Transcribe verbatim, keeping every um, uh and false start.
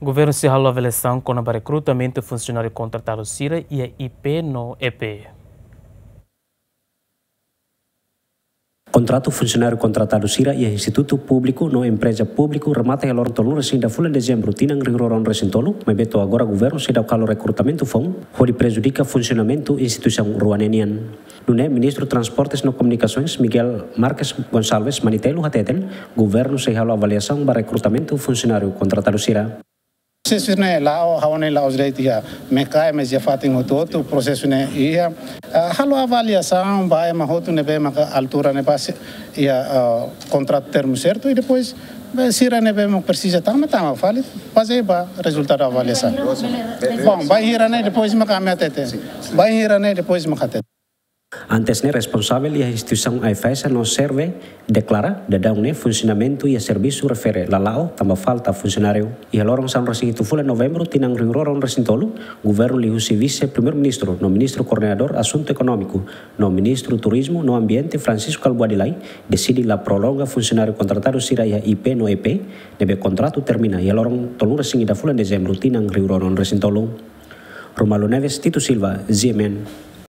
Governu sei halo avaliasaun kona-ba rekrutamentu funsionáriu kontratadu sira iha I P no E P. Kontratu funsionáriu kontratadu sira iha institutu públiku no empreza públiku remata iha loron tolunulu-resin-ida fulan Dezembru tinan rihun rua ruanulu-resin-tolu, maibé to'o agora governu seidauk halo rekrutamentu foun, hodi prejudika funsionamentu instituisaun rua ne'e nian. Nune'e Ministru Transportes no Komunikasoens Miguel Marques Gonçalves Manitelu hateten, governu sei halo avaliasaun ba rekrutamentu funsionáriu kontratadu sira. Prosesu ne'e la'o, ha'u hanoin la'ós de'it iha Mekae, mas iha fatin hotu-hotu prosesu ne'e iha. Ah, halo avaliasaun ba ema hotu ne'ebé maka altura ne'ebá sei iha, ah, kontratu termu sertu i depois ba sira ne'ebé maka presiza tama, tama fali, bazeia ba rezultadu avaliasaun. Bom, bainhira ne'e depois maka ami hatete. Bainhira ne'e depois maka hatete. Antes ne'e responsavel iha instituisaun AIFAESA no SERVE deklara, daudaun ne'e funsionamentu iha servisu refere la la'o tanba falta funsionáriu. Iha loron sanulu-resin-hitu fulan Novembru tinan rihun rua ruanulu-resin-tolu, governu liuhusi Vise-Primeiru-Ministru no Ministru Koordenadór Asuntu Ekonómiku no Ministru Turizmu no Ambiente Francisco Kalbuadi Lay deside la prolonga funsionáriu kontratadu sira iha I P no E P, ne'ebé kontratu termina iha loron tolunulu-resin-ida fulan Dezembru tinan rihun rua ruanulu-resin-tolu. Romualdo Neves, Tito Silva, G M N.